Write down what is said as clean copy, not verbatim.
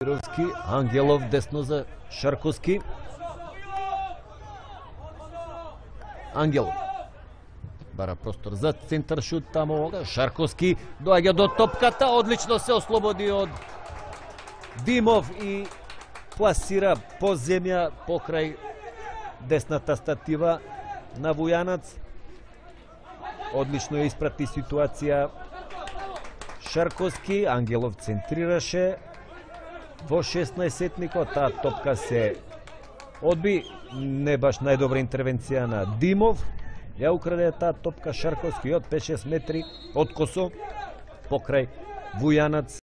Мировски, Ангелов десно за Шарковски. Ангелов бара простор за центар шут тамо. Шарковски доаѓа до топката, одлично се ослободи од Димов и пласира по земја покрај десната статива на Вујанац. Одлично ја испрати ситуација Шарковски. Ангелов центрираше во 16-етникот, таа топка се одби, не баш најдобра интервенција на Димов. Ја украде таа топка Шарковски од 5-6 метри од косо покрај Вујанац.